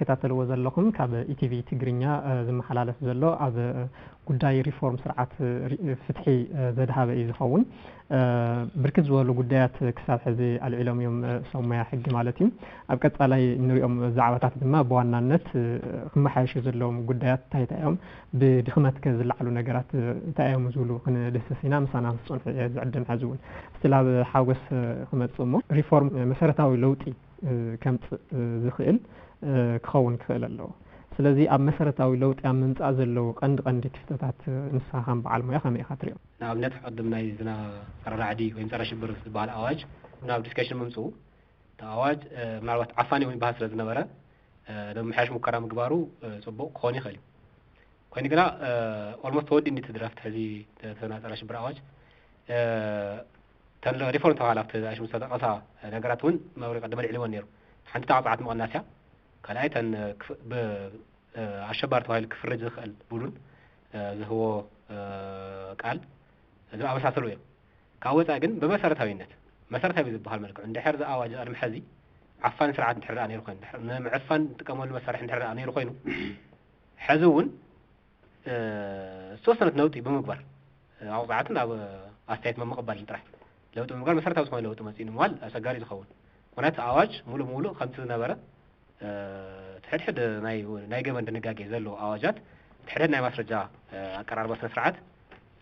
ትከታተልዎ ዘለኹም ካብ ኢቲቪ ትግርኛ ዝመሓላለፍ ዘሎ ኣብ ጉዳይ ሪፎርም ስርዓት ፍትሒ ዘድሃበ እዩ ዝኸውን። ብርክት ዝበሉ ጉዳያት ክሳብ ሕዚ ኣልዒሎም እዮም፣ ሰብ ሞያ ሕጊ ማለት እዩ። ኣብ ቀፃላይ እንሪኦም ዛዕባታት ድማ ብዋናነት ክመሓየሹ ዘለዎም ጉዳያት እንታይ እንታይ እዮም፣ ብድኽመት ከ ዝለዓሉ ነገራት እንታይ እዮም ዝብሉ ክንድህስስ ኢና። ምሳና ምስ ፀንሑ እየ ዝዕድም። ሕዚ እውን ስቲል ኣብ ሓጎስ ክመፅእ እሞ ሪፎርም መሰረታዊ ለውጢ ከምፅእ ዝኽእል ክኸውን ክኽእል ኣለዎ። ስለዚ ኣብ መሰረታዊ ለውጢ ኣብ ምምፃእ ዘለዉ ቀንዲ ቀንዲ ክፍተታት ንስኻ ከም በዓል ሞያ ከመይ ኢኻ ትሪኦ? ንኣብነት ቅድም ናይ ዝና ጸረ ራዕዲ ወይም ጸረ ሽብር ዝበሃል ኣዋጅ ናብ ዲስከሽን ምምፅኡ እቲ ኣዋጅ ምናልባት ዓፋኒ እውን ይበሃል ስለ ዝነበረ ንምምሕያሽ ሙከራ ምግባሩ ፅቡቕ ክኾን ይኽእል እዩ። ኮይኑ ግና ኦልሞስት ተወዲ እንዲ እቲ ድራፍት ሕዚ ተና ጸረ ሽብር ኣዋጅ ተን ሪፎርም ተባሃላ ኣብቲ ኣሽሙ ዝተጠቐሳ ነገራት እውን መብሪ ቀደመ ልዕልወን ነይሩ። ሓንቲ ተዓፃዓት ምቕናስ እያ። ካልኣይ ተን ኣሸባሪ ተባሂሉ ክፍረጅ ዝኽእል ቡዱን ዝህቦ ቃል እዞም ኣመሳሰሉ እዮም። ካብ ወፃኢ ግን ብመሰረታዊነት መሰረታዊ ዝበሃል መልክዑ እንድሕር ዝኣዋጅ ቅድሚ ሕዚ ዓፋን ስርዓት እንድሕር ደኣ ነይሩ ኮይኑ ንምዕፋን ንጥቀመሉ መሳርሒ እንድሕር ደኣ ነይሩ ኮይኑ ሕዚ እውን ዝተወሰነት ነውጢ ብምግባር ኣውፃዕትን ኣብ ኣስተያየት መምቕባልን ጥራሕ ለውጢ ብምግባር መሰረታዊ ዝኾነ ለውጢ መፅኡ ንምባል ኣሰጋሪ ዝኸውን። ምክንያቱ ኣዋጅ ሙሉእ ሙሉእ ከምቲ ዝነበረ ትሕድሕድ ናይ ገበን ድንጋጌ ዘለዎ ኣዋጃት ትሕድሕድ ናይ ማስረጃ ኣቀራርባ ስነ ስርዓት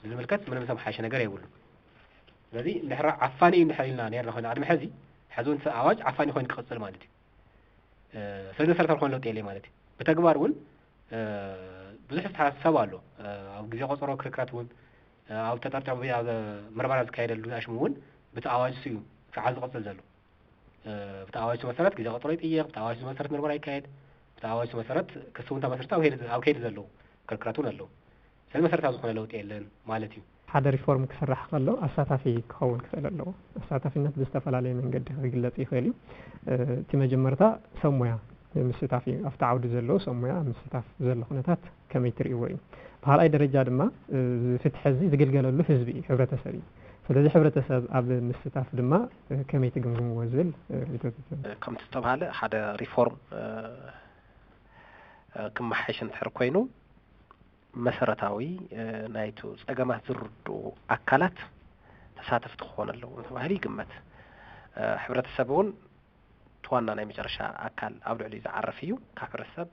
ብዝምልከት ምንም ዝተመሓየሸ ነገር የብሉ። ስለዚ እንድሕር ዓፋኒ እዩ እንድሕር ኢልና ነርና ኮይኑ ቅድሚ ሕዚ ሕዚ እውን ኣዋጅ ዓፋኒ ኮይኑ ክቕፅል ማለት እዩ። ስለዚ መሰረታዊ ዝኾነ ለውጢ የለ ማለት እዩ። ብተግባር እውን ብዙሕ ዝተሓሳሰብ ኣሎ። ኣብ ግዜ ቆፀሮ ክርክራት እውን ኣብ ተጠርጫ ኣብ ምርመራ ዝካየደሉ ዝኣሽሙ እውን ብቲ ኣዋጅ እዩ ስርዓት ዝቕፅል ዘሎ። ብቲ ኣዋጅ መሰረት ግዜ ቆፀሮ ይጥየቕ፣ ብቲ ኣዋጅ መሰረት ምርመራ ይካየድ፣ ብቲ ኣዋጅ መሰረት ክሲ እውን ተመስርተ ኣብ ከይዲ ዘለዉ ክርክራት እውን ኣለዉ። ስለዚ መሰረታዊ ዝኾነ ለውጢ የለን ማለት እዩ። ሓደ ሪፎርም ክስራሕ ከሎ ኣሳታፊ ክኸውን ክኽእል ኣለዎ። ኣሳታፊነት ብዝተፈላለየ መንገዲ ክግለጽ ይኽእል እዩ። እቲ መጀመርታ ሰብ ሞያ ምስታፍ እዩ። ኣብቲ ዓውዲ ዘለዉ ሰብ ሞያ ምስታፍ ዘሎ ኩነታት ከመይ ትርእይዎ እዩ? ብኻልኣይ ደረጃ ድማ እዚ ፍትሒ እዚ ዝግልገለሉ ህዝቢ እዩ፣ ሕብረተሰብ እዩ። ስለዚ ሕብረተሰብ ኣብ ምስታፍ ድማ ከመይ ትግምግምዎ ዝብል ርኢቶ። ከምቲ ዝተባሃለ ሓደ ሪፎርም ክመሓየሽ እንድሕር ኮይኑ መሰረታዊ ናይቱ ጸገማት ዝርድኡ ኣካላት ተሳተፍቲ ክኾኑ ኣለዎም ተባሂሉ ይግመት። ሕብረተሰብ እውን እቲ ዋና ናይ መጨረሻ ኣካል ኣብ ልዕሊኡ ዝዓርፍ እዩ። ካብ ሕብረተሰብ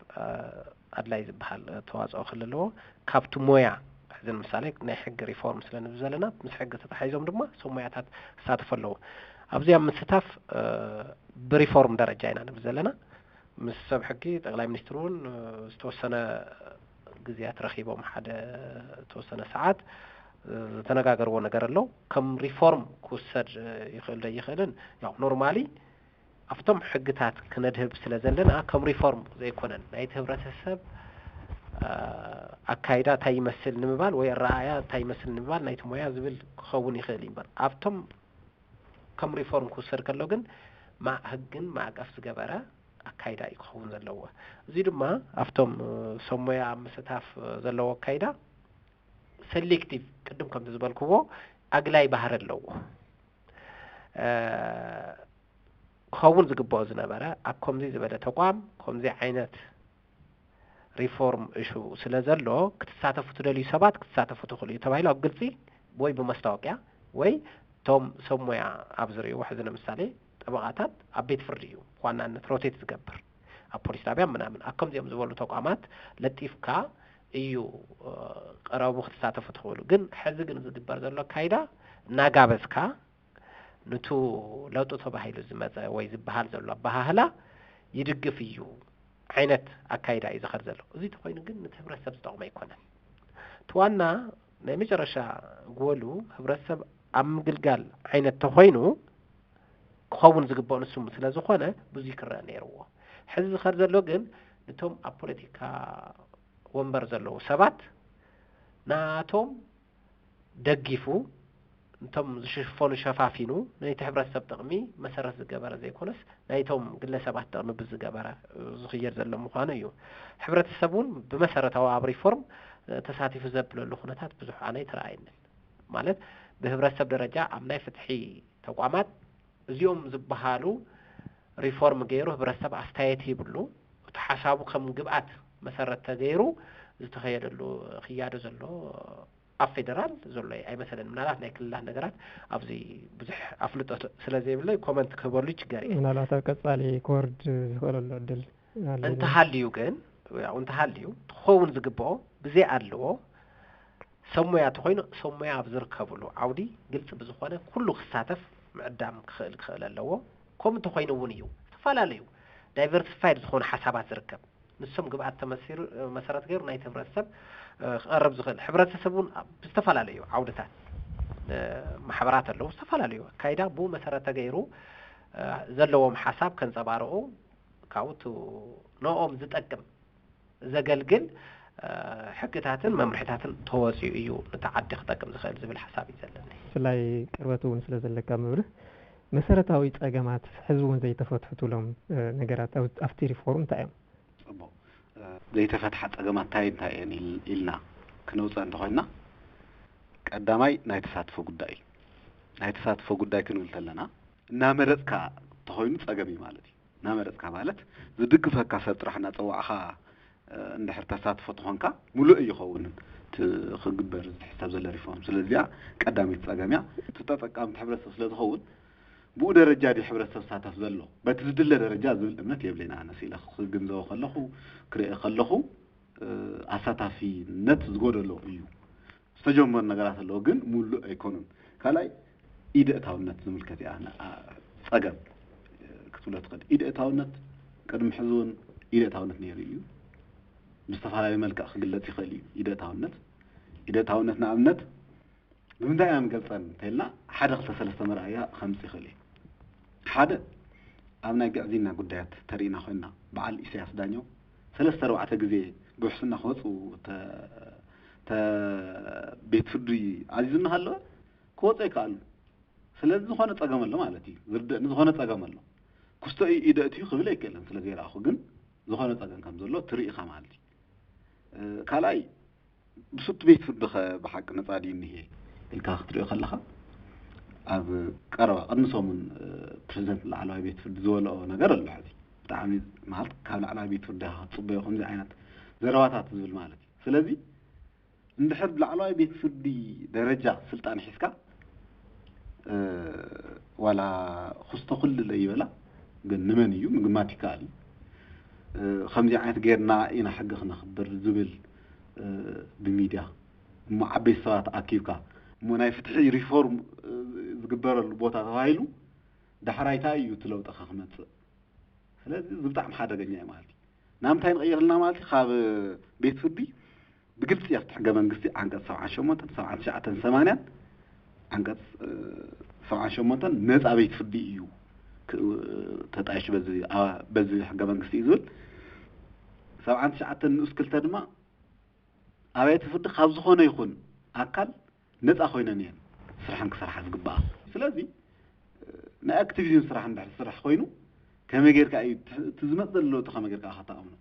ኣድላይ ዝበሃል ተዋፅኦ ክህሉ ኣለዎ። ካብቲ ሞያ ሕዚ ንምሳሌ ናይ ሕጊ ሪፎርም ስለ ንብል ዘለና ምስ ሕጊ ተታሒዞም ድማ ሰብ ሞያታት ክሳተፉ ኣለዎ። ኣብዚ ኣብ ምስታፍ ብሪፎርም ደረጃ ኢና ንብል ዘለና። ምስ ሰብ ሕጊ ጠቅላይ ሚኒስትር እውን ዝተወሰነ ግዜያት ረኺቦም ሓደ ዝተወሰነ ሰዓት ዝተነጋገርዎ ነገር ኣሎ። ከም ሪፎርም ክውሰድ ይኽእል ዶ ይኽእልን ያው ኖርማሊ ኣብቶም ሕግታት ክነድህብ ስለ ዘለና ከም ሪፎርም ዘይኮነን ናይቲ ህብረተሰብ ኣካይዳ እንታይ ይመስል ንምባል ወይ ኣረኣእያ እንታይ ይመስል ንምባል ናይቲ ሞያ ዝብል ክኸውን ይኽእል እዩ እምበር ኣብቶም ከም ሪፎርም ክውሰድ ከሎ ግን ህግን ማዕቀፍ ዝገበረ ኣካይዳ እዩ ክኸውን ዘለዎ። እዚ ድማ ኣብቶም ሰብ ሞያ ኣብ ምስታፍ ዘለዎ ኣካይዳ ሰሌክቲቭ ቅድም ከምቲ ዝበልክዎ ኣግላይ ባህሪ ኣለዎ። ክኸውን ዝግብኦ ዝነበረ ኣብ ከምዚ ዝበለ ተቋም ከምዚ ዓይነት ሪፎርም እሹ ስለ ዘሎ ክትሳተፉ ትደልዩ ሰባት ክትሳተፉ ትኽእሉ እዩ ተባሂሉ ኣብ ግልፂ ወይ ብመስታወቅያ ወይ እቶም ሰብ ሞያ ኣብ ዝርእይዎ ሕዚ ንምሳሌ ጠበቓታት ኣብ ቤት ፍርዲ እዩ ብዋናነት ሮቴት ዝገብር ኣብ ፖሊስ ጣብያ ምናምን ኣብ ከምዚኦም ዝበሉ ተቋማት ለጢፍካ እዩ ቀረቡ ክትሳተፉ ትኽእሉ። ግን ሕዚ ግን ዝግበር ዘሎ ኣካይዳ እናጋበዝካ ንቱ ለውጢ ተባሂሉ ዝመፀ ወይ ዝበሃል ዘሎ ኣበሃህላ ይድግፍ እዩ ዓይነት ኣካይዳ እዩ ዝኸድ ዘሎ። እዚ ተኮይኑ ግን ነቲ ህብረተሰብ ዝጠቕሞ ኣይኮነን። እቲ ዋና ናይ መጨረሻ ጎሉ ህብረተሰብ ኣብ ምግልጋል ዓይነት ተኮይኑ ክኸውን ዝግብኦ ንሱ ስለ ዝኾነ ብዙይ ክረአ ነይርዎ። ሕዚ ዝኸድ ዘሎ ግን ነቶም ኣብ ፖለቲካ ወንበር ዘለዉ ሰባት ናቶም ደጊፉ እቶም ዝሽፈኑ ሸፋፊኑ ነቲ ሕብረተሰብ ጥቕሚ መሰረት ዝገበረ ዘይኮነስ ናይቶም ግለሰባት ጥቕሚ ብዝገበረ ዝኽየድ ዘሎ ምዃኑ እዩ። ሕብረተሰብ እውን ብመሰረታዊ ኣብ ሪፎርም ተሳቲፉ ዘብለሉ ኩነታት ብዙሕ ኣነ ኣይተረኣየንን። ማለት ብህብረተሰብ ደረጃ ኣብ ናይ ፍትሒ ተቋማት እዚኦም ዝበሃሉ ሪፎርም ገይሩ ህብረተሰብ ኣስተያየት ይብሉ እቲ ሓሳቡ ከም ግብኣት መሰረት ተገይሩ ዝተኸየደሉ ክያዶ ዘሎ ኣብ ፌደራል ዘሎ ኣይመስለንን። ምናልባት ናይ ክልላት ነገራት ኣብዚ ብዙሕ ኣፍልጦ ስለ ዘይብለይ ኮመንት ክህበሉ ይችገር እየ። ምናልባት ኣብ ቀጻሊ ክወርድ ዝኽእለሉ ዕድል ኣሎ። እንተሃልዩ ግን ያው እንተሃልዩ ክኸውን ዝግብኦ ብዘይ ኣድልዎ ሰብ ሞያ ተኾይኑ ሰብ ሞያ ኣብ ዝርከብሉ ዓውዲ ግልፂ ብዝኾነ ኩሉ ክሳተፍ ምዕዳም ክኽእል ክኽእል ኣለዎ። ከምኡ እንተኾይኑ እውን እዩ ዝተፈላለዩ ዳይቨርሲፋይድ ዝኾኑ ሓሳባት ዝርከብ ንሶም ግብኣት ተመሲሩ መሰረት ገይሩ ናይቲ ህብረተሰብ ክቐርብ ዝኽእል። ሕብረተሰብ እውን ብዝተፈላለዩ ዓውድታት ማሕበራት ኣለዉ። ዝተፈላለዩ ኣካይዳ ብኡ መሰረት ተገይሩ ዘለዎም ሓሳብ ከንፀባርቑ ካብኡ ንኦም ዝጠቅም ዘገልግል ሕግታትን መምርሕታትን ተወፂኡ እዩ ነቲ ዓዲ ክጠቅም ዝኽእል ዝብል ሓሳብ እዩ ዘለኒ። ብፍላይ ቅርበት እውን ስለ ዘለካ መብርህ መሰረታዊ ፀገማት ሕዚ እውን ዘይተፈትሑ ትብሎም ነገራት ኣብቲ ሪፎርም እንታይ እዮም? ፅቡቕ ዘይተፈትሓ ፀገማት እንታይ እንታይ እየን ኢልና ክነውፅእ እንተኾይንና ቀዳማይ ናይ ተሳትፎ ጉዳይ እዩ። ናይ ተሳትፎ ጉዳይ ክንብል ተለና እናመረፅካ ተኾይኑ ፀገም እዩ ማለት እዩ። እናመረፅካ ማለት ዝድግፈካ ሰብ ጥራሕ እናፀዋዕኻ እንድሕር ተሳትፎ ተኾንካ ሙሉእ ኣይኸውንን። እቲ ክግበር ዝሕሰብ ዘሎ ሪፎርም ስለዚኣ ቀዳመይቲ ፀገም እያ። እቲ ተጠቃሚ እቲ ሕብረተሰብ ስለ ዝኸውን ብኡ ደረጃ ድዩ ሕብረተሰብ ዝሳተፍ ዘሎ በቲ ዝድለ ደረጃ ዝብል እምነት የብለይን። ኣነ ስኢለ ክግንዘቦ ከለኹ ክሪኦ ከለኹ ኣሳታፊነት ዝጎደሎ እዩ። ዝተጀመሩ ነገራት ኣለዉ ግን ሙሉእ ኣይኮኑን። ካልኣይ ኢደ እታውነት ዝምልከት እያ ጸገም ክትብሎ ትኽእል። ኢደ እታውነት ቅድሚ ሕዚ እውን ኢደ እታውነት ነይሩ እዩ። ብዝተፈላለየ መልክዕ ክግለጽ ይኽእል እዩ ኢደ እታውነት። ኢደ እታውነት ንኣብነት ብምንታይ ኢና ንገልጸን እንተኢልና ሓደ ክልተ ሰለስተ መርኣያ ከምጽእ ይኽእል እዩ። ሓደ ኣብ ናይ ግዕዝይና ጉዳያት ተሪእና ኮይንና በዓል ኢሳያስ ዳኘው ሰለስተ ኣርባዕተ ግዜ ብውሕስና ክወፁ ቤት ፍርዲ ኣዚዙ እናሃለወ ክወፁ ኣይከኣሉ። ስለዚ ዝኾነ ፀገም ኣሎ ማለት እዩ። ዝርድእኒ ዝኾነ ፀገም ኣሎ። ክስቶ ኢደ እትዩ ክብል ኣይክእልን ስለ ዘይረኣኹ፣ ግን ዝኾነ ፀገም ከም ዘሎ ትርኢ ኢኻ ማለት እዩ። ካልኣይ ብሱቲ ቤት ፍርዲ ኸ ብሓቂ ነፃ ድዩ እኒሄ ኢልካ ክትሪኦ ከለኻ ኣብ ቀረባ ቅድሚ ሰሙን ፕሬዚደንት ላዕለዋይ ቤት ፍርዲ ዝበልኦ ነገር ኣሎ። ሕዚ ብጣዕሚ ማለት ካብ ላዕለዋይ ቤት ፍርዲ ክትፅበዮ ከምዚ ዓይነት ዘረባታት ዝብል ማለት እዩ። ስለዚ እንድሕር ብላዕለዋይ ቤት ፍርዲ ደረጃ ስልጣን ሒዝካ ዋላ ክስቶ ክልል ኣይበላ ግን ንመን እዩ ምግማት ይከኣል እዩ። ከምዚ ዓይነት ጌርና ኢና ሕጊ ክነኽብር ዝብል ብሚድያ እሞ ዓበይቲ ሰባት ኣኪብካ እሞ ናይ ፍትሒ ሪፎርም ዝግበረሉ ቦታ ተባሂሉ ዳሕራይ እንታይ እዩ እቲ ለውጢ ክመፅእ? ስለዚ እዚ ብጣዕሚ ሓደገኛ እዩ ማለት እዩ። ናብ ምንታይ ንቕይር ኣለና ማለት እዩ? ካብ ቤት ፍርዲ ብግልፂ ኣብቲ ሕገ መንግስቲ ዓንቀፅ ሰብዓን ሸሞንተን ሰብዓን ትሽዓተን ሰማንያን ዓንቀፅ ሰብዓን ሸሞንተን ነፃ ቤት ፍርዲ እዩ ተጣይሹ በዚ ሕገ መንግስቲ እዩ ዝብል። ሰብዓን ትሽዓተን ንኡስ ክልተ ድማ ኣብያተ ፍርዲ ካብ ዝኾነ ይኹን ኣካል ነፃ ኮይነን እየን ስርሐን ክሰርሓ ዝግባኣ። ስለዚ ናይ ኣክቲቪዝም ስራሕ እንድሕር ዝስራሕ ኮይኑ ከመይ ጌርካ እዩ እቲ ዝመፅ ዘሎ ለውጢ ከመይ ጌርካ ከተኣምኖ?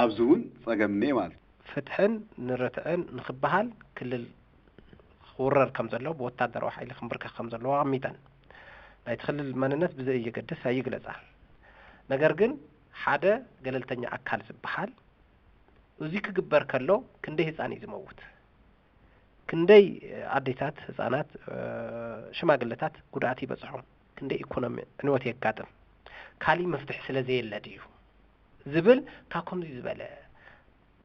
ኣብዚ እውን ፀገም እኒአ ማለት እዩ። ፍትሕን ንርትዕን ንክበሃል ክልል ክውረር ከም ዘለዎ ብወታደራዊ ሓይሊ ክንብርከኽ ከም ዘለዎ ኣቐሚጠን። ናይቲ ክልል መንነት ብዘየገድስ ኣይግለፃ። ነገር ግን ሓደ ገለልተኛ ኣካል ዝበሃል እዚ ክግበር ከሎ ክንደይ ህፃን እዩ ዝመውት? ክንደይ ኣዴታት፣ ህፃናት፣ ሽማግለታት ጉድኣት ይበፅሖም? ክንደይ ኢኮኖሚ ዕንወት የጋጥም? ካሊእ መፍትሒ ስለ ዘየለ ድዩ ዝብል ካብ ከምዚ ዝበለ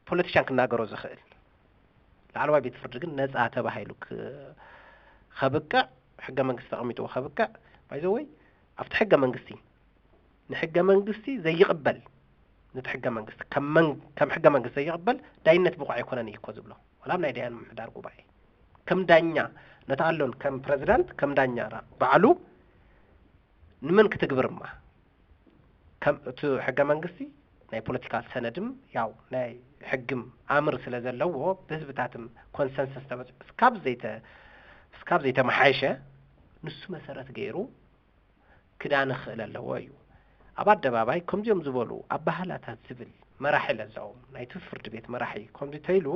ፖለቲሻን ክናገሮ ዝኽእል ላዕለዋይ ቤት ፍርዲ ግን ነፃ ተባሂሉ ከብቅዕ ሕገ መንግስቲ ተቐሚጥዎ ከብቅዕ ባይዘወይ ኣብቲ ሕገ መንግስቲ ንሕገ መንግስቲ ዘይቕበል ነቲ ሕገ መንግስቲ ከም ሕገ መንግስቲ ዘይቕበል ዳይነት ብቑዕ ኣይኮነን እዩ እኮ ዝብሎ። ዋላ ኣብ ናይ ዳያን ምምሕዳር ጉባኤ ከም ዳኛ ነቲ ኣሎን ከም ፕረዚዳንት ከም ዳኛ ባዕሉ ንመን ክትግብር እማ ከም እቲ ሕገ መንግስቲ ናይ ፖለቲካል ሰነድም ያው ናይ ሕግም ኣምር ስለ ዘለዎ ብህዝብታትም ኮንሰንሰስ ተበፅሑ እስካብ ዘይተ እስካብ ዘይተመሓየሸ ንሱ መሰረት ገይሩ ክዳነ ክኽእል ኣለዎ እዩ። ኣብ ኣደባባይ ከምዚኦም ዝበሉ ኣባህላታት ዝብል መራሒ ለዛዎም ናይቲ ፍርዲ ቤት መራሒ ከምዚ ተይሉ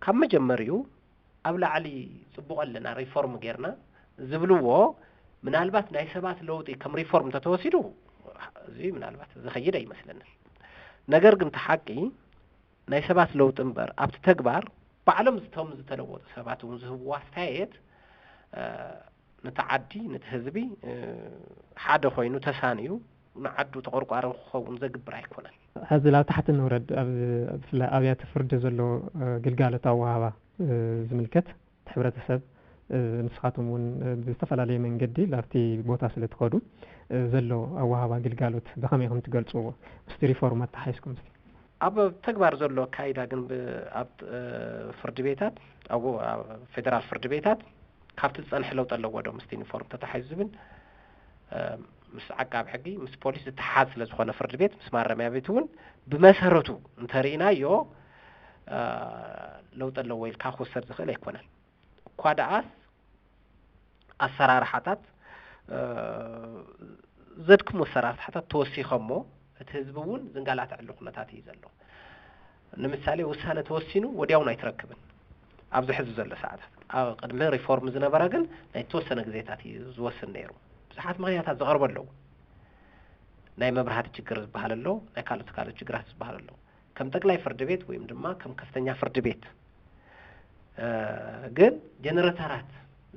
ካብ መጀመሪኡ ኣብ ላዕሊ ፅቡቕ ኣለና ሪፎርም ጌርና ዝብልዎ ምናልባት ናይ ሰባት ለውጢ ከም ሪፎርም እንተተወሲዱ እዚ ምናልባት ዝኸይድ ኣይመስለንን። ነገር ግን እቲ ሓቂ ናይ ሰባት ለውጢ እምበር ኣብቲ ተግባር ባዕሎም ዝቶም ዝተለወጡ ሰባት እውን ዝህብዎ ኣስተያየት ነቲ ዓዲ ነቲ ህዝቢ ሓደ ኮይኑ ተሳንዩ ንዓዱ ተቆርቋሪ ክኸውን ዘግብር ኣይኮነን። ሕዚ ላብ ታሕቲ ንውረድ። ኣብ ብፍላይ ኣብያተ ፍርዲ ዘሎ ግልጋሎት ኣወሃባ ዝምልከት እቲ ሕብረተሰብ ንስኻትኩም እውን ብዝተፈላለየ መንገዲ ላብቲ ቦታ ስለ ትኸዱ ዘሎ ኣወሃባ ግልጋሎት ብኸመይ ከም ትገልፅዎ ምስቲ ሪፎርም ኣተሓሒዝኩም እስቲ? ኣብ ተግባር ዘሎ ኣካይዳ ግን ኣብ ፍርዲ ቤታት ኣብ ፌደራል ፍርዲ ቤታት ካብቲ ዝፀንሐ ለውጢ ኣለዎ ዶ ምስቲ ዩኒፎርም ተታሒዙ ዝብል ምስ ዓቃቢ ሕጊ ምስ ፖሊስ ዝተሓዝ ስለ ዝኾነ ፍርዲ ቤት ምስ ማረሚያ ቤት እውን ብመሰረቱ እንተርኢናዮ ለውጢ ኣለዎ ኢልካ ክውሰድ ዝኽእል ኣይኮነን። እኳ ደኣስ ኣሰራርሓታት ዘድክሙ ኣሰራርሓታት ተወሲኸሞ እቲ ህዝቢ እውን ዝንጋላተዐሉ ኩነታት እዩ ዘሎ። ንምሳሌ ውሳነ ተወሲኑ ወዲያውን ኣይትረክብን ኣብዚ ሕዚ ዘሎ ሰዓታት። ኣብ ቅድሚ ሪፎርም ዝነበረ ግን ናይ ተወሰነ ግዜታት እዩ ዝወስን ነይሩ። ብዙሓት ምኽንያታት ዝቐርቡ ኣለዉ። ናይ መብራህቲ ችግር ዝበሃል ኣሎ፣ ናይ ካልኦት ካልኦት ችግራት ዝበሃል ኣሎ። ከም ጠቅላይ ፍርድ ቤት ወይም ድማ ከም ከፍተኛ ፍርድ ቤት ግን ጀነረተራት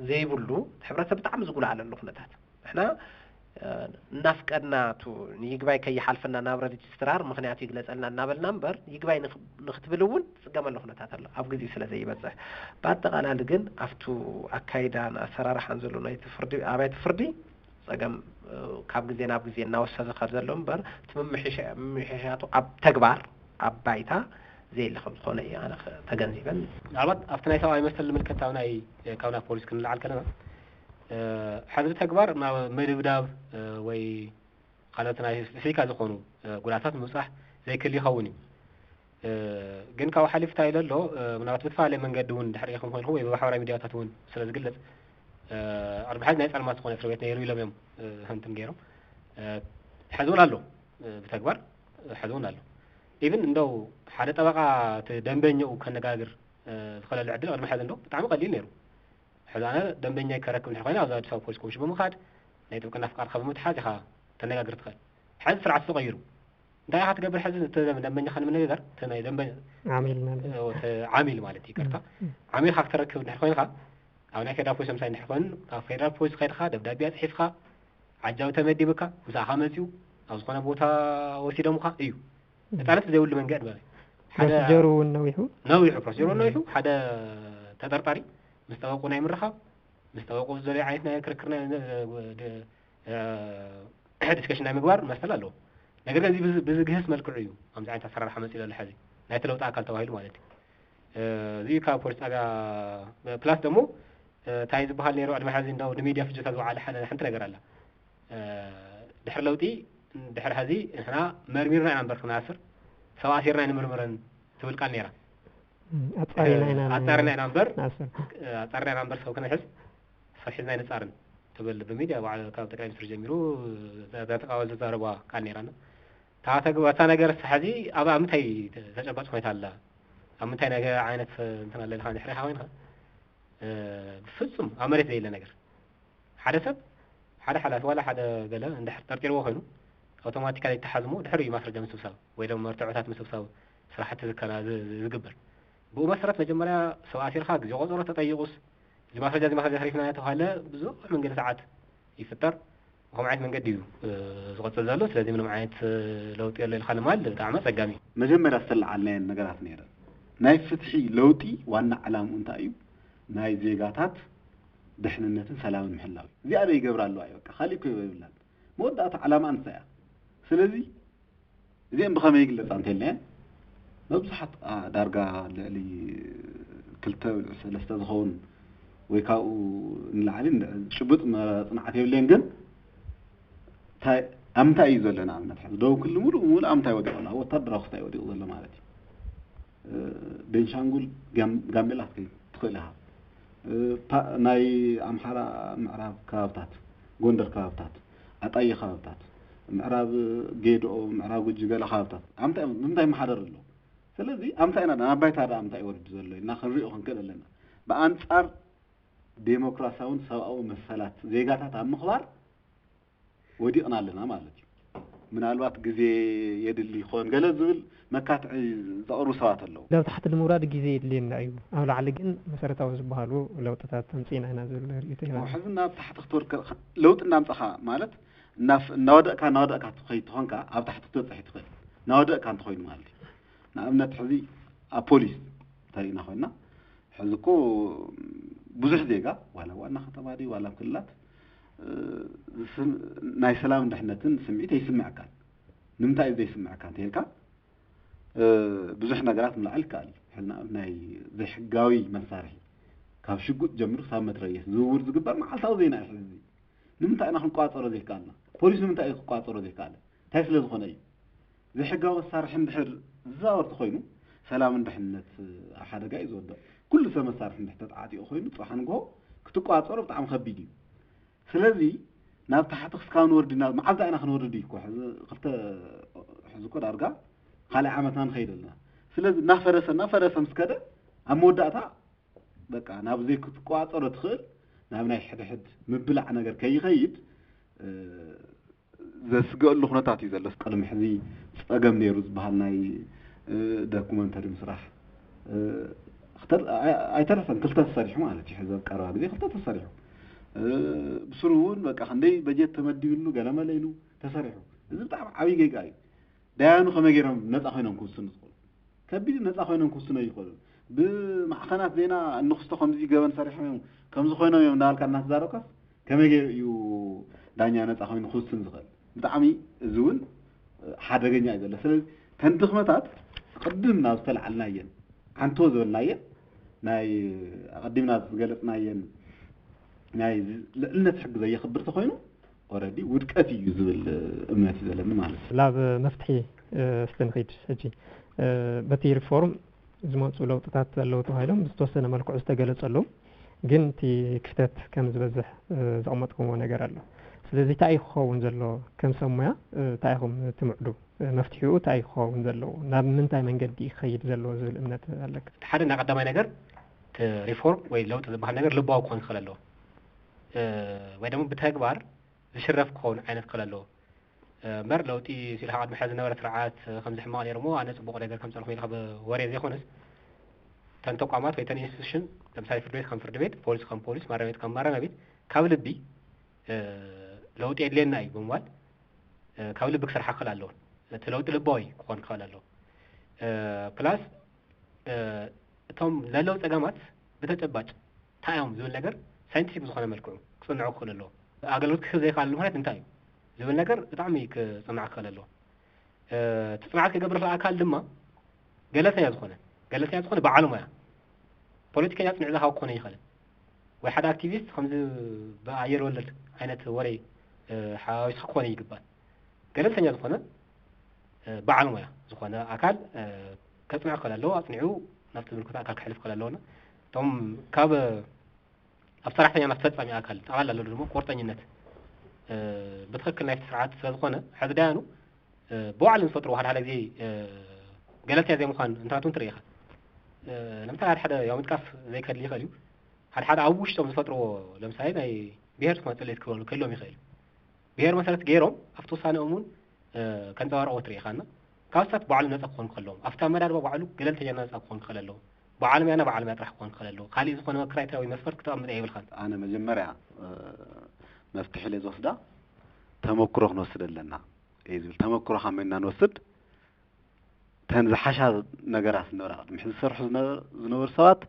ዘይብሉ እቲ ሕብረተሰብ ብጣዕሚ ዝጉልኣለሉ ኩነታት ንሕና እናፍቀድና ቱ ንይግባይ ከይሓልፈና ናብ ረጅስትራር ምክንያቱ ይግለፀልና እናበልና እምበር ይግባይ ንክትብል እውን ትፅገመሉ ኩነታት ኣሎ ኣብ ግዜኡ ስለ ዘይበፅሕ። ብኣጠቃላሊ ግን ኣብቱ ኣካይዳን ኣሰራርሓን ዘሎ ናይቲ ፍርዲ ኣብያተ ፍርዲ ፀገም ካብ ግዜ ናብ ግዜ እናወሰኸ ዝኸድ ዘሎ እምበር እቲ ምምሕሻቱ ኣብ ተግባር ኣብ ባይታ ዘየለ ከም ዝኾነ እየ ኣነ ተገንዚበን። ምናልባት ኣብቲ ናይ ሰብኣዊ መሰል ዝምልከት ካብ ናይ ካብ ናይ ፖሊስ ክንልዓል ከለና ሕዚ ብተግባር ናብ ምድብዳብ ወይ ካልኦት ናይ ፊዚካ ዝኾኑ ጉድኣታት ምብፃሕ ዘይክእል ይኸውን እዩ። ግን ካብኡ ሓሊፉ እንታይ ኢለ ኣሎ ምናልባት ብዝተፈላለየ መንገዲ እውን ድሕር ኢኹም ኮይንኩም ወይ ብማሕበራዊ ሚዲያታት እውን ስለ ዝግለፅ ቅድሚ ሕዚ ናይ ፀልማት ዝኾነ እስር ቤት ነይሩ ኢሎም እዮም ህንትም ገይሮም። ሕዚ እውን ኣሎ ብተግባር ሕዚ እውን ኣሎ። ኢቭን እንደው ሓደ ጠበቃ እቲ ደንበኛኡ ከነጋግር ዝኽእለሉ ዕድል ቅድሚ ሕዚ እንደው ብጣዕሚ ቀሊል ነይሩ። ሕዚ ኣነ ደንበኛይ ከረክብ እንድሕር ኮይነ ኣብዚ ኣዲስ ኣበባ ፖሊስ ኮሚሽን ብምኻድ ናይ ጥብቅና ፍቃድካ ብምትሓዝ ኢኻ ተነጋግር ትኽእል። ሕዚ ስርዓት ተቐይሩ። እንታይ ኢኻ ትገብር ሕዚ እቲ ደንበኛኻ ንምንግጋር እቲ ናይ ደንበ ዓሚል ማለት ዓሚል ማለት ይቅርታ ዓሚልካ ክተረክብ እንድሕር ኮይንካ ኣብ ናይ ፌደራል ፖሊስ ምሳይ እንድሕር ኮይኑ ኣብ ፌደራል ፖሊስ ከይድካ ደብዳቤ ኣፅሒፍካ ዓጃቢ ተመዲብካ ምሳኻ መፂኡ ኣብ ዝኾነ ቦታ ወሲዶምካ እዩ። ነፃነት ብዘይብሉ መንገድ ማለት ሓደ ፕሮሲጀሩ እውን ነዊሑ ነዊሑ ፕሮሲጀሩ እውን ነዊሑ ሓደ ተጠርጣሪ ምስ ጠበቁ ናይ ምርኻብ ምስ ጠበቁ ዝደለዩ ዓይነት ናይ ክርክር ዲስከሽን ናይ ምግባር መሰል ኣለዎ። ነገር ግን እዚ ብዝግህስ መልክዑ እዩ ኣብዚ ዓይነት ኣሰራርሓ መፂኡ ዘሎ ሕዚ ናይቲ ለውጢ ኣካል ተባሂሉ ማለት እዩ። እዚ ካብ ፖሊስ ጣብያ ፕላስ ደግሞ እንታይ ዝበሃል ነይሩ ቅድሚ ሕዚ እንደው ንሚድያ ፍጆታ ዝወዓለ ሓንቲ ነገር ኣላ። ድሕሪ ለውጢ ድሕሪ ሕዚ ንሕና መርሚርና ኢና እምበር ክንኣስር ሰብ ኣሲርና ኣይንምርምርን ትብል ቃል ነይራ። ኣፃሪና ኢና ኣፃሪና ኢና እምበር ንኣስር ኣፃሪና ኢና እምበር ሰብ ክንሕዝ ሰብ ሒዝና ኣይንፃርን ትብል ብሚድያ ባዕሉ ካብ ጠቅላይ ሚኒስትር ጀሚሩ ተቃወ ዝዛረቧ ቃል ነይራና። እታ ተግባ እታ ነገር ሕዚ ኣብ ኣብ ምንታይ ተጨባጭ ኩነታ ኣላ ኣብ ምንታይ ነገር ዓይነት እንትን ኣለልካ ድሕሪኻ ኮይንካ ብፍፁም ኣብ መሬት ዘየለ ነገር ሓደ ሰብ ሓደ ሓላፊ ዋላ ሓደ ገለ እንድሕር ጠርጢርዎ ኮይኑ ኣውቶማቲካሊ ይተሓዝ እሞ ድሕሪ እዩ ማስረጃ ምስብሳብ ወይ ደሞ መርትዖታት ምስብሳብ ስራሕቲ ዝከና ዝግበር። ብኡ መሰረት መጀመርያ ሰብ ኣሲርካ ግዜ ቆፀሮ ተጠይቁስ እዚ ማስረጃ እዚ ማስረጃ ተሪፍና ተባሃለ ብዙሕ መንገዲ ሰዓት ይፍጠር። ብኸምኡ ዓይነት መንገዲ እዩ ዝቐፅል ዘሎ። ስለዚ ምንም ዓይነት ለውጢ የሎ ኢልካ ንማል ብጣዕሚ ኣፀጋሚ እዩ። መጀመርያ ዝተለዓልናየን ነገራት ነይረን። ናይ ፍትሒ ለውጢ ዋና ዕላምኡ እንታይ እዩ? ናይ ዜጋታት ድሕንነትን ሰላምን ምሕላው እዩ። እዚኣ ዶ ይገብራ ኣለዋ እዩ በቃ ካሊእ እኮ የብላን። መወዳእታ ዕላማ እንታይ እያ? ስለዚ እዚአን ብኸመይ ይግለፃ እንተልናየን መብዙሓት ዳርጋ ልዕሊ ክልተ ሰለስተ ዝኸውን ወይ ካብኡ ንላዕሊ ጭቡጥ መፅናዕት የብለይን ግን ኣብ ምንታይ እዩ ዘሎ ንኣብነት ሕዚ ደቡብ ክልል ሙሉእ ሙሉእ ኣብ ምንታይ ወዲቑ ኣሎ ኣብ ወታደራዊ ክስታይ ወዲቑ ዘሎ ማለት እዩ ቤንሻንጉል ጋምቤላ ክትከይድ ትኽእል ኢኻ ናይ ኣምሓራ ምዕራብ ከባብታት ጎንደር ከባብታት ኣጣየ ከባብታት ምዕራብ ጌድኦ ምዕራብ ጉጂ ገለ ከባብታት ኣብ ምንታይ ይመሓደር ኣሎ ስለዚ ኣብ ምንታይ ኢና ናብ ባይታ ደኣ ምንታይ እዩ ወሪዱ ዘሎ ኢልና ክንሪኦ ክንክእል ኣለና ብኣንፃር ዴሞክራሲያውን ሰብኣዊ መሰላት ዜጋታት ኣብ ምኽባር ወዲቕና ኣለና ማለት እዩ። ምናልባት ግዜ የድሊ ይኾን ገለ ዝብል መካትዒ ዘቕርቡ ሰባት ኣለዉ። ናብ ታሕቲ ንምውራድ ግዜ የድልየና እዩ፣ ኣብ ላዕሊ ግን መሰረታዊ ዝበሃሉ ለውጥታት ኣምፂእና ኢና ዝብል ርእቶ ኢና። ሕዚ ናብ ታሕቲ ክትወርድ ለውጢ እናምፀኻ ማለት እናወደቕካ እናወደቕካ ትኸይድ ተኾንካ ኣብ ታሕቲ ክትበፅሕ ትኽእል። እናወደቕካ እንተኾይኑ ማለት እዩ። ንኣብነት ሕዚ ኣብ ፖሊስ እንተሪእና ኮይና ሕዚ እኮ ብዙሕ ዜጋ ዋላ ዋና ከተማ ድዩ ዋላ ክልላት ናይ ሰላምን ድሕነትን ስምዒት ኣይስምዐካን። ንምንታይ እዩ ዘይስምዐካ እንተልካ ብዙሕ ነገራት ምልዓል ይከኣል እዩ። ሕዚ ንኣብነት ናይ ዘይሕጋዊ መሳርሒ ካብ ሽጉጥ ጀምሩ ክሳብ መትረየስ ዝውውር ዝግበር መዓልታዊ ዜና እዩ። ሕዚ ንምንታይ ኢና ክንቋፀሮ ዘይከኣልና? ፖሊስ ንምንታይ እዩ ክቋፀሮ ዘይከኣለ? እንታይ ስለ ዝኾነ እዩ? ዘይሕጋዊ መሳርሒ እንድሕር ዝዛወር ተኾይኑ ሰላምን ድሕነት ኣብ ሓደጋ እዩ ዝወድቕ። ኩሉ ሰብ መሳርሒ እንድሕር ተጣዓጢቑ ኮይኑ ፅባሕ ንግሆ ክትቋፀሮ ብጣዕሚ ከቢድ እዩ። ስለዚ ናብ ታሕቲ ክስካብ ንወርድ ኢና መዓዝ ኢና ክንወርድ እዩ እኮ ሕዚ ክልተ ሕዚ እኮ ዳርጋ ካልኣይ ዓመትና ንኸይድ ኣለና። ስለዚ እናፈረሰ እናፈረሰ ምስ ከደ ኣብ መወዳእታ በቃ ናብ ዘይክትቋፀሮ ትኽእል ናብ ናይ ሕድሕድ ምብላዕ ነገር ከይኸይድ ዘስገእሉ ኩነታት እዩ ዘሎ። ቅድሚ ሕዚ ፀገም ነይሩ ዝበሃል ናይ ዶኩመንተሪ ምስራሕ ኣይተረፈን ክልተ ተሰሪሑ ማለት እዩ። ሕዚ ኣብ ቀረባ ግዜ ክልተ ተሰሪሑ ብስሩ እውን በቃ ክንደይ በጀት ተመዲብሉ ገለመለ ኢሉ ተሰሪሑ። እዚ ብጣዕሚ ዓብዪ ጌጋ እዩ። ዳያኑ ከመይ ገይሮም ነፃ ኮይኖም ክውስኑ ዝኽእሉ? ከቢድ ነፃ ኮይኖም ክውስኑ ኣይኽእሉን። ብማዕኸናት ዜና እንክስቶ ከምዚ ገበን ሰሪሖም እዮም ከምዚ ኮይኖም እዮም እናበልካ እናተዛረብካስ ከመይ ገይሩ እዩ ዳኛ ነፃ ኮይኑ ክውስን ዝኽእል? ብጣዕሚ እዚ እውን ሓደገኛ እዩ ዘሎ። ስለዚ ተን ድኽመታት ቅድም ናብ ዝተለዓልናየን ዓንቶ ዝበልናየን ናይ ኣቐዲምና ዝገለፅናየን ናይ ልዕልነት ሕጊ ዘየኽብር ተኾይኑ ኦረዲ ውድቀት እዩ ዝብል እምነት እዩ ዘለኒ ማለት እዩ። ናብ መፍትሒ እስቲ ንኺድ ሕጂ። በቲ ሪፎርም ዝመፁ ለውጥታት ኣለዉ ተባሂሎም ብዝተወሰነ መልክዑ ዝተገለፁ ኣለዉ፣ ግን እቲ ክፍተት ከም ዝበዝሕ ዘቕመጥኩምዎ ነገር ኣሎ። ስለዚ እንታይ እዩ ክኸውን ዘሎ? ከም ሰብ ሙያ እንታይ ኢኹም ትምዕዱ? መፍትሒኡ እንታይ እዩ ክኸውን ዘለዎ? ናብ ምንታይ መንገዲ እዩ ክኸይድ ዘለዎ ዝብል እምነት ኣለካ? እቲ ሓደ እና ቀዳማይ ነገር እቲ ሪፎርም ወይ ለውጢ ዝበሃል ነገር ልባዊ ክኾን ክኽእል ኣለዎ፣ ወይ ደግሞ ብተግባር ዝሽረፍ ክኸውን ዓይነት ክኽእል ኣለዎ። እምበር ለውጢ ኢልካ ቅድሚ ሕዚ ዝነበረ ስርዓት ከምዚ ሕማቕ ነይሩ እሞ ኣነ ፅቡቕ ነገር ከምፀልኹ ኢልካ ብወሬ ዘይኮነስ እተን ተቋማት ወይ እተን ኢንስቲቱሽን ለምሳሌ ፍርድ ቤት ከም ፍርድ ቤት፣ ፖሊስ ከም ፖሊስ፣ ማረሚያ ቤት ከም ማረሚያ ቤት ካብ ልቢ ለውጢ የድልየና እዩ ብምባል ካብ ልቢ ክሰርሓ ክኽእል ኣለዎ። እቲ ለውጢ ልባዊ ክኾን ክኽእል ኣለዎ። ፕላስ እቶም ዘለዉ ፀገማት ብተጨባጭ እንታይ እዮም ዝብል ነገር ሳይንቲፊክ ብዝኾነ መልክዑ ክፅንዑ ክኽእሉ ኣለዎ። ኣገልግሎት ክህብ ዘይከኣለሉ ምኽንያት እንታይ እዩ ዝብል ነገር ብጣዕሚ ክፅናዕ ክኽእል ኣለዎ። እቲ ፅንዓት ክገብር ዝኽእል ኣካል ድማ ገለልተኛ ዝኾነ ገለልተኛ ዝኾነ በዓል ሞያ፣ ፖለቲከኛ ፅንዕ ዝሃብ ክኾነ ይኽእልን ወይ ሓደ ኣክቲቪስት ከምዚ ብኣየር ወለድ ዓይነት ወረ ሓዋዊስካ ክኾነ ይግባእ። ገለልተኛ ዝኾነ በዓል ሞያ ዝኾነ ኣካል ከፅንዕ ክኽእል ኣለዎ። ኣፅኒዑ ናብቲ ዝምልከቶ ኣካል ክሕልፍ ክኽእል ኣለዎ። እቶም ካብ ኣብ ሰራሕተኛ ናብ ፈፃሚ ኣካል ጠቕላላ ዘሎ ድማ ቁርጠኝነት ብትኽክል ናይቲ ስርዓት ስለዝኾነ ሕዚ ዳያኑ ብባዕሎም ዝፈጥርዎ ሓደ ሓደ ግዜ ገለልተኛ ዘይምዃን እንትናት እውን ትርኢ ኢኻ። ለምሳሌ ሓደ ሓደ ያው ምጥቃስ ዘይከድሊ ይኽእል እዩ። ሓደ ሓደ ኣብ ውሽጦም ዝፈጥርዎ ለምሳሌ ናይ ብሄር ዝኾነ ፅልኢት ክህልዎም ይኽእል እዩ። ብሄር መሰረት ገይሮም ኣብቲ ውሳነኦም እውን ከንፀባርቕዎ ትርኢ ኢኻ እና ካብ ስህተት ባዕሉ ነፃ ክኾኑ ከለዎም ኣብቲ ኣመዳድባ ባዕሉ ገለልተኛ ነፃ ክኾን ክኽእል ኣለዎ። በዓል ሞያና በዓል ሞያ ጥራሕ ክኾን ክኽእል ኣለዎ። ካሊእ ዝኾነ ክራይተሪያ ወይ መስፈርት ክተቐምጥ የብልካን። ኣነ መጀመርያ መፍትሒ ኢለ ዝወስዳ ተመክሮ ክንወስድ ኣለና እየ ዝብል። ተመክሮ ካብ መን ኢና ንወስድ? ተን ዝሓሻ ነገራት ዝነበራ ቅድሚ ሕዚ ዝሰርሑ ዝነበሩ ሰባት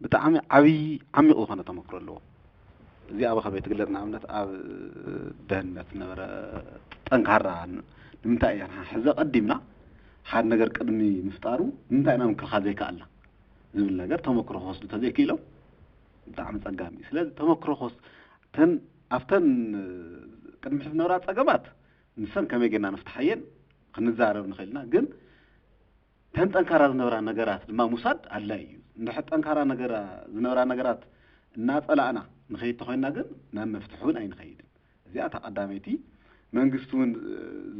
ብጣዕሚ ዓብዪ ዓሚቕ ዝኾነ ተመክሮ ኣለዎም። እዚ ኣብ ከመይ ትግለፅ? ንኣብነት ኣብ ደህንነት ዝነበረ ጠንካራ ንምንታይ ኢና ሕዚ ቀዲምና ሓደ ነገር ቅድሚ ምፍጣሩ ንምንታይ ኢና ምክልኻል ዘይከኣልና ዝብል ነገር ተመክሮ ክወስዱ ተዘይክኢሎም ብጣዕሚ ፀጋሚ እዩ። ስለዚ ተመክሮ ክወስ ተን ኣብተን ቅድሚ ሕዚ ዝነበራ ፀገማት ንሰን ከመይ ጌርና ንፍትሓየን ክንዛረብ ንኽእል ኢና። ግን ተን ጠንካራ ዝነበራ ነገራት ድማ ምውሳድ ኣድላይ እዩ። እንድሕር ጠንካራ ነገራ ዝነበራ ነገራት እናፀላእና ንኸይድ ተኾይንና ግን ናብ መፍትሒ እውን ኣይንኸይድን። እዚኣ እታ ቀዳመይቲ መንግስቲ እውን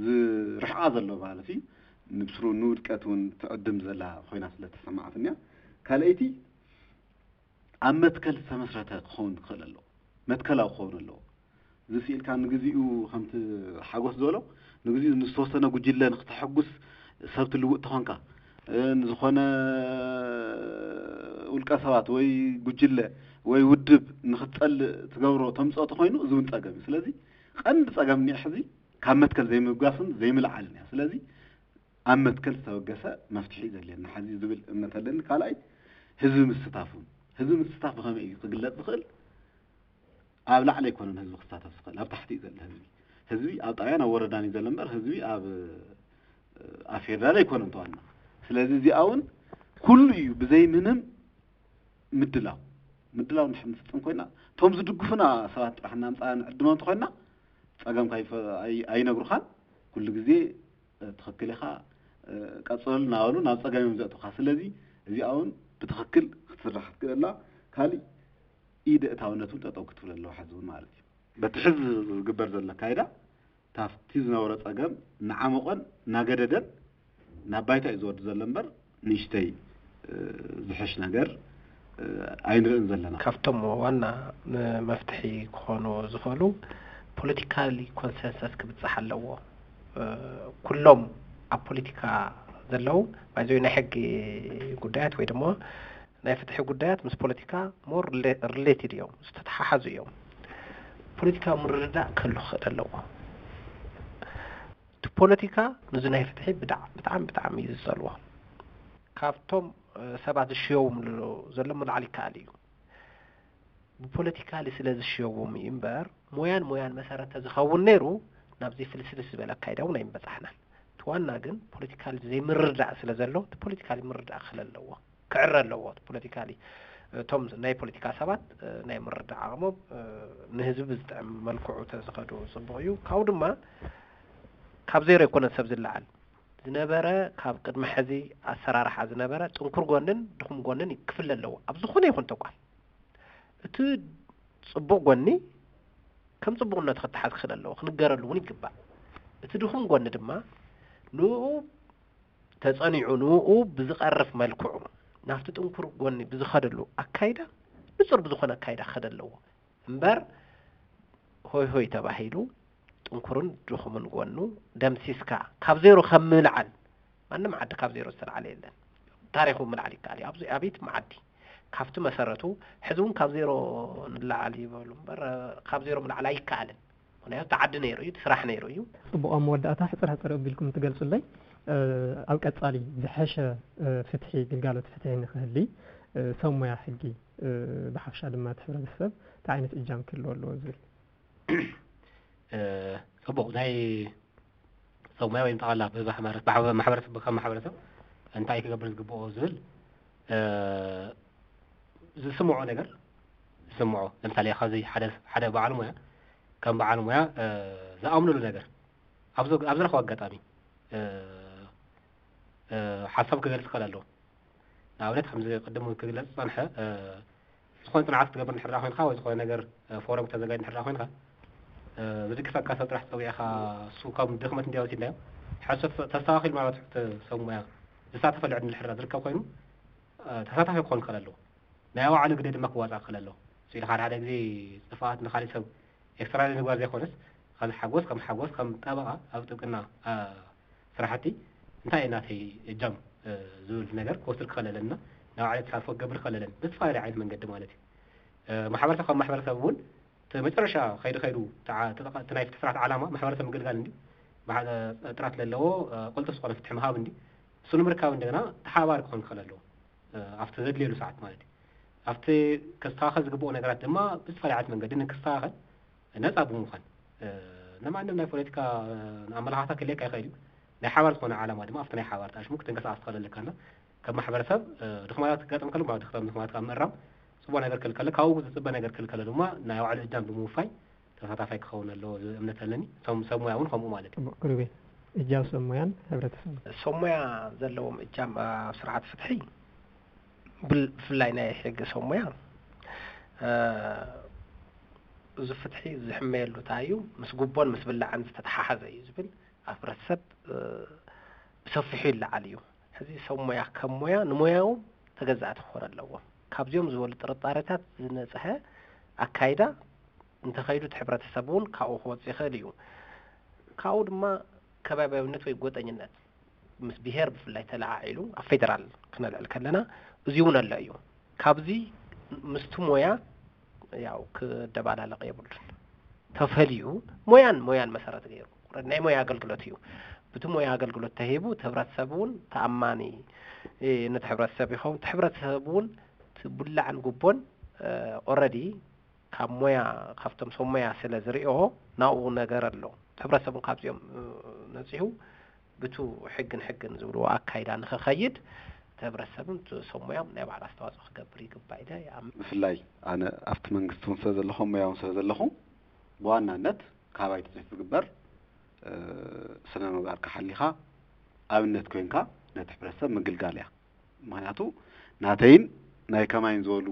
ዝርሕቓ ዘሎ ማለት እዩ። ንብስሩ ንውድቀት እውን ትዕድም ዘላ ኮይና ስለ ተሰማዓትንያ። ካልኣይቲ ኣብ መትከል ዝተመስረተ ክኸውን ክኽእል ኣለዎ። መትከላዊ ክኸውን ኣለዎ። እዚ ስኢልካ ንግዚኡ ከምቲ ሓጎስ ዝበሎ ንግዜኡ ንዝተወሰነ ጉጅለ ንክተሐጉስ ሰብ ትልውጥ ተኾንካ፣ እ፣ ንዝኾነ ውልቀ ሰባት ወይ ጉጅለ ወይ ውድብ ንክትጸልእ ትገብሮ ተምጽኦ ተኾይኑ፣ እዚ እውን ጸገም እዩ። ስለዚ ቀንዲ ጸገም እኒኦ ሕዚ ካብ መትከል ዘይምብጋስን ዘይምልዓልን እያ። ስለዚ ኣብ መትከል ዝተበገሰ መፍትሒ እዩ ዘድልየና ሕዚ ዝብል እምነት ኣለኒ። ካልኣይ፣ ህዝቢ ምስታፍ እውን። ህዝቢ ምስታፍ ብኸመይ እዩ ክግለጽ ዝኽእል? ኣብ ላዕሊ ኣይኮነን ህዝቢ ክሳተፍ ዝኽእል፣ ኣብ ታሕቲ እዩ ዘሎ ህዝቢ። ህዝቢ ኣብ ጣብያን ኣብ ወረዳን እዩ ዘሎ እምበር ህዝቢ ኣብ፣ ኣብ ፌደራል ኣይኮነን ተዋና። ስለዚ እዚኣ እውን ኩሉ እዩ ብዘይ ምንም ምድላው፣ ምድላው እንድሕር ንፍጽም ኮይና፣ እቶም ዝድግፉና ሰባት ጥራሕ እናምጻ ንዕድሞም እንተኮይና፣ ጸገምካ ኣይፈ-፣ ኣይ-፣ ኣይነግሩኻን። ኩሉ ግዜ፣ እ፣ ትኽክል ኢኻ፣ እ፣ ቀጽለሉ እናበሉ ናብ ጸገም እዮም ዘእቱኻ። ስለዚ እዚኣ እውን ብትኽክል ክትስራሕ ክትክእል ኣላ። ካሊእ ኢደ እታውነት እውን ጠጠው ክትብል ኣለዋ ሕዚ እውን ማለት እዩ። በቲ ሕዚ ዝግበር ዘሎ ኣካይዳ፣ ታፍቲ ዝነበረ ጸገም እናዓመቖን እናገደደን ናብ ባይታ እዩ ዝወርድ ዘሎ እምበር፣ ንእሽተይ፣ እ፣ ዝሕሽ ነገር፣ እ፣ ኣይንርእን ዘለና። ካብቶም ዋና ን-፣ መፍትሒ ክኾኑ ዝኽእሉ፣ ፖለቲካሊ ኮንሰንሰስ ክብጻሕ ኣለዎ። እ፣ ኩሎም ኣብ ፖለቲካ ዘለዉ፣ ባይዘ ናይ ሕጊ ጉዳያት ወይ ድማ ናይ ፍትሒ ጉዳያት ምስ ፖለቲካ ሞር ሪሌ-፣ ሪሌትድ እዮም፣ ዝተተሓሓዙ እዮም። ፖለቲካዊ ምርድዳእ ክህሉ ክኽእል ኣለዎ። እቲ ፖለቲካ ንዚ ናይ ፍትሒ ብጣዕ-፣ ብጣዕሚ፣ ብጣዕሚ እዩ ዝጸልዎ። ካብቶም፣ እ፣ ሰባት ዝሽየውምሉ ዘሎ ምልዓል ይከኣል እዩ። ብፖለቲካሊ ስለ ዝሽየዎም እዩ እምበር፣ ሞያን ሞያን መሰረት ተዝኸውን ነይሩ፣ ናብዚ ፍልስልስ ዝበለ ኣካይዳ እውን ኣይምበጻሕናን። እቲ ዋና ግን ፖለቲካሊ ዘይምርዳእ ስለ ዘሎ፣ እቲ ፖለቲካሊ ምርዳእ ክህለ ኣለዎ፣ ክዕረ ኣለዎ። እቲ ፖለቲካሊ፣ እቶም ናይ ፖለቲካ ሰባት፣ እ፣ ናይ ምርዳእ ዓቕሞም፣ እ፣ ንህዝቢ ብዝጥዕም መልክዑ ተዝኸዱ ጽቡቕ እዩ። ካብኡ ድማ ካብ ዜሮ ኣይኮነን ሰብ ዝለዓል። ዝነበረ፣ ካብ ቅድሚ ሕዚ ኣሰራርሓ ዝነበረ ጥንኩር ጎንን ድኹም ጎንን ክፍለ ኣለዎ፣ ኣብ ዝኾነ ይኹን ተቋም። እቲ ጽቡቕ ጎኒ ከም ጽቡቕነቱ ክተሓዝ ክኽእል ኣለዎ፣ ክንገረሉ እውን ይግባእ። እቲ ድኹም ጎኒ ድማ ንኡ ተጸኒዑ፣ ንኡ ብዝቐርፍ መልክዑ ናብቲ ጥንኩር ጎኒ ብዝኸደሉ ኣካይዳ፣ ንጹር ብዝኾነ ኣካይዳ ክኸደ ኣለዎ እምበር፣ ሆይ ሆይ ተባሂሉ ጥንኩርን ድኹምን ጎኑ ደምሲስካ ካብ ዜሮ ከም ምልዓል፣ ማንም ዓዲ ካብ ዜሮ ዝተልዓለ የለን። ታሪኹ ምልዓል ይከኣል እዩ። ኣብዚ ኣቤት መዓዲ ካብቲ መሰረቱ ሕዚ እውን ካብ ዜሮ ንለዓል ይበሉ እምበር፣ ካብ ዜሮ ምልዓል ኣይከኣልን። ምኽንያቱ እቲ ዓዲ ነይሩ እዩ፣ እቲ ስራሕ ነይሩ እዩ። ጽቡቕ፣ ኣብ መወዳእታ ሕጽር ሕጽር ኣቢልኩም ትገልጹለይ፣ እ፣ ኣብ ቀጻሊ ዝሐሸ፣ እ፣ ፍትሒ፣ ግልጋሎት ፍትሒ ንኽህሊ፣ እ፣ ሰብ ሞያ ሕጊ፣ እ፣ ብሓፈሻ ድማ እቲ ሕብረተሰብ እንታይ ዓይነት እጃም ክህልዎ ኣለዎ ዝብል። እ፣ ጽቡቕ፣ ናይ ሰብ ሞያ ወይም ጠቕላላ ብማሕበረ-፣ ማሕበረ-፣ ማሕበረሰብ፣ ከም ማሕበረሰብ እንታይ ክገብር ዝግብኦ ዝብል፣ እ፣ ዝስምዖ ነገር፣ ዝስምዖ፣ ለምሳሌ፣ ካብዚ ሓደ፣ ሓደ በዓል ሞያ፣ ከም በዓል ሞያ፣ እ፣ ዝኣምነሉ ነገር፣ ኣብ ዝ-፣ ኣብ ዝረኸቦ ኣጋጣሚ፣ እ፣ እ፣ ሓሳብ ክገልጽ ይኽእል ኣለዎ። ንኣብነት፣ ከምዚ ቅድም እውን ክግለጽ ዝጸንሐ፣ እ፣ ዝኾነ ጽንዓት ክትገብር እንድሕር ደኣ ኮይንካ፣ ወይ ዝኾነ ነገር፣ እ፣ ፎረም ክተዘጋጅ እንድሕር ደኣ ኮይንካ፣ እ፣ ዝድግፈካ ሰብ ጥራሕ ጸዊዕካ፣ እሱ ከም ድኽመት እንድያ ወሲድናዮ፣ ሕቶ ተስተኻኺሉ፣ ማለት፣ እቲ ሰብ ሞያ ዝሳተፈሉ ዕድል እንድሕር ደኣ ዝርከብ ኮይኑ፣ እ፣ ተሳታፊ ክኾን ክኽእል ኣለዎ። ናይ ባዕሉ ግደ ድማ ክዋጻእ ክኽእል ኣለዎ። ስኢልካ ሓደ ሓደ ግዜ ጥፍኣት ንኻሊእ ሰብ ኤክስትራ ንምግባር ዘይኮነስ፣ ከም ሓጎስ፣ ከም ሓጎስ፣ ከም ጠበቓ ኣብ ጥብቅና፣ እ፣ ስራሕቲ እንታይ እዩ ናተይ እጃም፣ እ፣ ዝብል ነገር ክወስድ ክኽእል ኣለና። ናይ ባዕለይ ተሳትፎ ክገብር ክኽእል ኣለኒ። ብዝተፈላለየ ዓይነት መንገዲ ማለት እዩ። እ፣ ማሕበረሰብ ከም ማሕበረሰብ እውን እቲ መጨረሻ ከይዱ ከይዱ ተዓ-፣ ተጠቓ-፣ እቲ ናይ ፍትሒ ስርዓት ዓላማ ማሕበረሰብ ምግልጋል እንድዩ። ማሕ-፣ ጥራት ዘለዎ፣ እ፣ ቅልጡፍ ዝኾነ ፍትሒ ምሃብ እንድዩ። እሱ ንምርካብ እንደገና ተሓባባሪ ክኾን ክኽእል ኣለዎ። እ፣ ኣብቲ ዘድልየሉ ሰዓት ማለት እዩ። ኣብቲ ከስተኻኸል ዝግብኦ ነገራት ድማ ብዝተፈላለየ ዓይነት መንገዲ ንክስተኻኸል ነጻ ብምዃን፣ እ፣ ንማንም ናይ ፖለቲካ፣ እ፣ ኣመለኻኽታ ክልየካ ይኽእል እዩ። ናይ ሓባር ዝኾነ ዓላማ ድማ ኣብቲ ናይ ሓባር ጣሽሙ ክትንቀሳቐስ ትኽእል ኣለካና። ከም ማሕበረሰብ፣ እ፣ ድኽመታት ክጋጥም ከሎ፣ ማለት፣ ድኽመታት ካብ ምእራም፣ ጽቡቕ ነገር ክልከለ፣ ካብኡ ዝጽበ ነገር ክልከለ ድማ ናይ ባዕሉ እጃም ብምውፋይ ተሳታፋይ ክኸውን ኣለዎ ዝብል እምነት ኣለኒ። እቶም ሰብ ሞያ እውን ከምኡ ማለት እዩ። ጽቡቕ፣ ክሩቤል፣ እጃም ሰብ ሞያን ሕብረተሰብን። ሰብ ሞያ ዘለዎም እጃም ኣብ ስርዓት ፍትሒ፣ ብል-፣ ብፍላይ ናይ ሕጊ ሰብ ሞያ፣ እ፣ እዚ ፍትሒ ዝሕመየሉ እንታይ እዩ? ምስ ጉቦን ምስ ብላዕን ዝተተሓሓዘ እዩ ዝብል ኣብ ሕብረተሰብ፣ እ፣ ብሰፊሑ ይለዓል እዩ። ሕዚ ሰብ ሞያ ከም ሞያ ንሞያኡ ተገዛእቲ ክኾን ኣለዎም። ካብዚኦም ዝበሉ ጥርጣሬታት ዝነጽሀ ኣካይዳ እንተኸይዱ፣ እቲ ሕብረተሰብ እውን ካብኡ ክወጽእ ይኽእል እዩ። ካብኡ ድማ ከባቢያዊነት ወይ ጎጠኝነት ምስ ብሄር ብፍላይ ተለዓዒሉ ኣብ ፌደራል ክነልዕል ከለና እዚ እውን ኣሎ እዩ። ካብዚ ምስቲ ሞያ ያው ክደባላለቕ የብሉን። ተፈልዩ ሞያን ሞያን መሰረት ገይሩ ናይ ሞያ ኣገልግሎት እዩ። ብቲ ሞያ ኣገልግሎት ተሂቡ እቲ ህብረተሰብ እውን ተኣማኒ ነቲ ህብረተሰብ ይኸውን። እቲ ህብረተሰብ እውን እቲ ቡላዕን ጉቦን ኦረዲ ካብ ሞያ ካብቶም ሰብ ሞያ ስለ ዝሪኦ ናብኡ ነገር ኣሎ። እቲ ህብረተሰብ እውን ካብዚኦም ነፂሁ ብቱ ሕግን ሕግን ዝብልዎ ኣካይዳ ንክኸይድ እቲ ህብረተሰብን እቲ ሰብ ሞያም ናይ ባዕሉ ኣስተዋፅኦ ክገብር ይግባእ ኢለ ይኣምን። ብፍላይ ኣነ ኣብቲ መንግስቲ እውን ስለ ዘለኹ ሞያ እውን ስለ ዘለኹ ብዋናነት ካባይ ትፅቢት ዝግበር ስነ ምግባርካ ሓሊኻ ኣብነት ኮይንካ ነቲ ሕብረተሰብ ምግልጋል እያ። ምክንያቱ ናተይን ናይ ከማይን ዝበሉ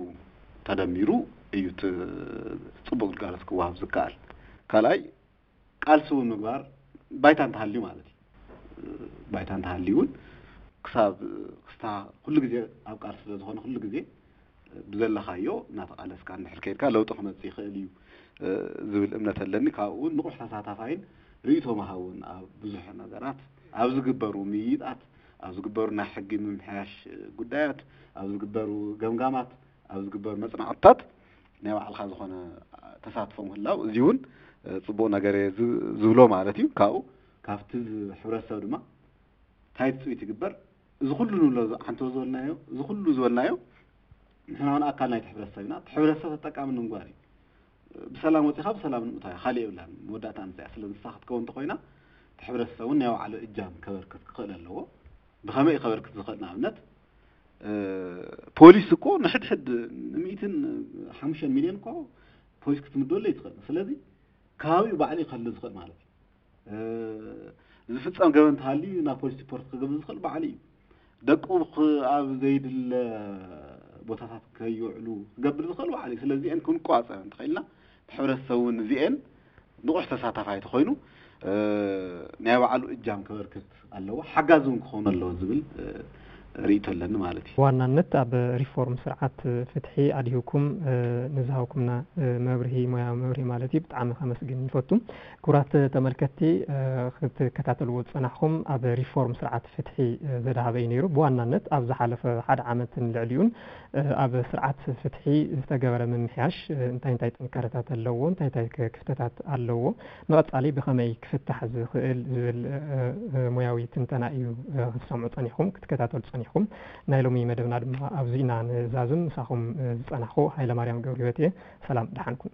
ተደሚሩ እዩ እቲ ፅቡቅ ግልጋሎት ክወሃብ ዝከኣል። ካልኣይ ቃልሲ እውን ምግባር ባይታ እንተሃልዩ ማለት እዩ። ባይታ እንተሃልዩ እውን ክሳብ ክስታ ኩሉ ግዜ ኣብ ቃልሲ ስለ ዝኾነ ኩሉ ግዜ ብዘለኻዮ እናተቓለስካ እንድሕር ከይድካ ለውጢ ክመፅእ ይኽእል እዩ ዝብል እምነት ኣለኒ። ካብኡ እውን ንቑሕ ተሳታፋይን ርእይቶ መሃውን ኣብ ብዙሕ ነገራት ኣብ ዝግበሩ ምይይጣት ኣብ ዝግበሩ ናይ ሕጊ ምምሕያሽ ጉዳያት ኣብ ዝግበሩ ገምጋማት ኣብ ዝግበሩ መፅናዕትታት ናይ ባዕልኻ ዝኾነ ተሳትፎ ምህላው እዚ እውን ፅቡቕ ነገር እየ ዝብሎ ማለት እዩ። ካብኡ ካብቲ ሕብረተሰብ ድማ እንታይ ትፅቢት ይግበር? እዚ ኩሉ ንብሎ ዓንቶ ዝበልናዮ እዚ ኩሉ ዝበልናዮ ንሕና እውን ኣካል ናይቲ ሕብረተሰብ ኢና። እቲ ሕብረተሰብ ተጠቃሚ ንምግባር እዩ። ብሰላም ወፂኻ ብሰላም ንምእታው እያ። ካሊእ የብላን። መወዳእታ ንሳ እያ። ስለዚ ንሳ ክትከውን እንተኮይና እቲ ሕብረተሰብ እውን ናይ ባዕሉ እጃም ከበርክት ክኽእል ኣለዎ። ብኸመይ እዩ ከበርክት ዝኽእል? ንኣብነት ፖሊስ እኮ ንሕድሕድ ንሚእትን ሓሙሽተን ሚልዮን እኮ ፖሊስ ክትምደሉ ይትኽእል። ስለዚ ከባቢኡ ባዕሉ እዩ ከሉ ዝኽእል ማለት እዩ። ዝፍፀም ገበን እንተሃልዩ ናብ ፖሊስ ሪፖርት ክገብር ዝኽእል ባዕሉ እዩ። ደቁ ኣብ ዘይድለ ቦታታት ከይውዕሉ ክገብር ዝኽእል ባዕሉ እዩ። ስለዚአን ክንቋፀር እንተኽኢልና እቲ ሕብረተሰብ እውን እዚአን ንቑሕ ተሳታፋይ ተኾይኑ ናይ ባዕሉ እጃም ከበርክት ኣለዎ፣ ሓጋዚ እውን ክኾኑ ኣለዎ ዝብል ርእይቶ ኣለኒ ማለት እዩ። ብዋናነት ኣብ ሪፎርም ስርዓት ፍትሒ ኣድሂብኩም ንዝሃብኩምና መብርሂ፣ ሞያዊ መብርሂ ማለት እዩ፣ ብጣዕሚ ከመስግን ይፈቱ። ክቡራት ተመልከትቲ ክትከታተልዎ ዝፀናሕኩም ኣብ ሪፎርም ስርዓት ፍትሒ ዘድሃበ እዩ ነይሩ። ብዋናነት ኣብ ዝሓለፈ ሓደ ዓመትን ልዕሊኡን ኣብ ስርዓት ፍትሒ ዝተገበረ ምምሕያሽ እንታይ እንታይ ጥንካረታት ኣለዎ፣ እንታይ እንታይ ክፍተታት ኣለዎ፣ ንቐፃሊ ብኸመይ ክፍታሕ ዝኽእል ዝብል ሞያዊ ትንተና እዩ ክትሰምዑ ፀኒሕኩም ክትከታተሉ ፀኒሕኩም። ናይ ሎሚ መደብና ድማ ኣብዚ ኢና ንዛዝም። ምሳኹም ዝፀናሕኩ ሃይለማርያም ገብረህይወት እየ። ሰላም ደሓን ኩኑ።